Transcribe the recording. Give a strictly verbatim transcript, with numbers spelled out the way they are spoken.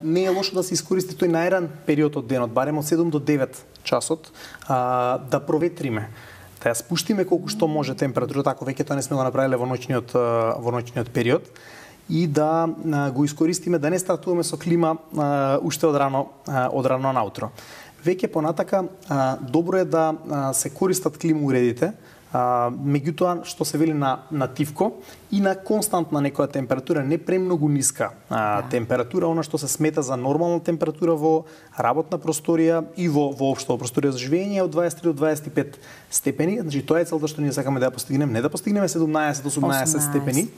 Не е лошо да се искористи тој најран период од денот, барем од седум до девет часот, а, да проветриме. Да ја спуштиме колку што може температурата, ако веќе тоа не сме го направиле во ноќниот во ноќниот период, и да а, го искористиме да не стартуваме со клима а, уште од рано а, од рано наутро. Веќе понатака а, добро е да а, се користат клима уредите, а, меѓутоа што се вели на на тивко и на константна некоја температура, не премногу ниска а, да. температура, она што се смета за нормална температура во работна просторија и во воопшто во просторија за живење од дваесет три до дваесет и пет степени. Значи тоа е целта што ние сакаме да ја постигнеме, не да постигнеме седумнаесет осумнаесет степени,